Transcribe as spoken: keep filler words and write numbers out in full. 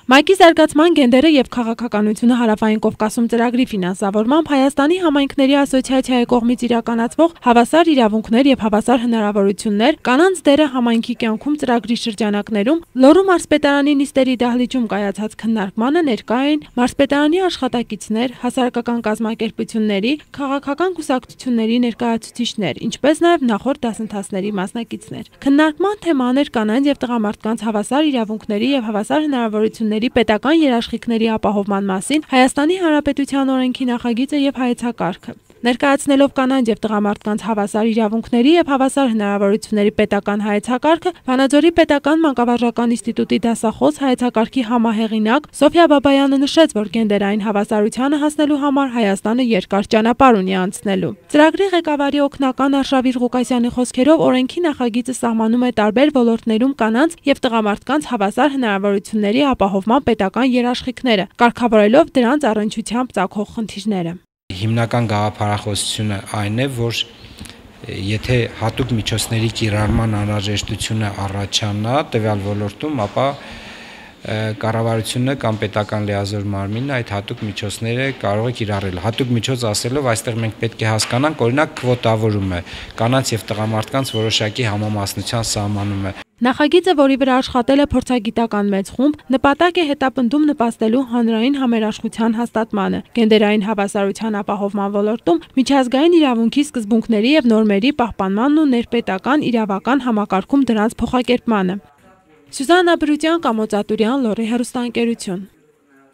Մայկի զարգացման գենդերը եւ քաղաքականությունը հարավային Կովկասում ծրագրի ֆինանսավորմամբ Հայաստանի համայնքների ասոցիացիայի կողմից իրականացվող հավասար իրավունքներ եւ հավասար հնարավորություններ կանանց դերը համայնքի կյանքում ծրագրի շրջանակներում Լոռու մարզպետարանի նիստերի դահլիճում կայացած քննարկմանը ներկա էին մարզպետարանի աշխատակիցներ, հասարակական կազմակերպությունների, քաղաքական կուսակցությունների ներկայացուցիչներ, ինչպես նաեւ նախորդ դասընթացների մասնակիցներ։ Քննարկման թեման էր կանանց եւ տղամարդկանց հավասար իրավունքների եւ հավասար հնարավորությունների պետական երաշխիքների ապահովման մասին Հայաստանի Հանրապետության օրենքի նախագիծը եւ հայեցակարգը։ Ներկայացնելով կանանց եւ տղամարդկանց հավասար իրավունքների եւ հավասար հնարավորությունների պետական հայեցակարգը, Վանաձորի պետական մանկավարժական ինստիտուտի դասախոս հայեցակարգի համահեղինակ Սոֆիա Բաբայանը նշեց, որ գենդերային հավասարությանը հասնելու համար Հայաստանը երկար ճանապարհ ունի անցնելու։ Ծրագրի ղեկավարի օգնական Արշավիր Ղուկասյանի խոսքերով օրենքի նախագիծը սահմանում է տարբեր ոլորտներում կանանց եւ տղամարդկանց հավասար հնարավորությունների ապահովման պետական երաշխիքները, կարգավորելով դրանց առնչությամբ ծագող խնդիրները։ Հիմնական գաղափարախոսությունը այն է, որ եթե հատուկ միջոցների կիրառման անհրաժեշտությունը առաջանա տվյալ ոլորտում, ապա կառավարությունը կամ պետական լիազոր մարմինը այդ հատուկ միջոցները կարող է կիրառել։ Հատուկ միջոց ասելով, այստեղ մենք պետք է հասկանանք, օրինակ քվոտավորումը, կանանց եւ տղամարդկանց որոշակի համամասնության սահմանում է։ Նախագիծը, որի վրա աշխատել է փորձագիտական մեծ խումբ, նպատակ է հետապնդում նպաստելու հանրային համերաշխության հաստատմանը, գենդերային հավասարության ապահովման ոլորտում միջազգային իրավունքի սկզբունքների եւ նորմերի պահպանմանն ու ներպետական իրավական համակարգում դրանց փոխակերպմանը։ Սյուզաննա Բրուտյան, Կամո Ծատուրյան, Լոռի հեռուստաընկերություն։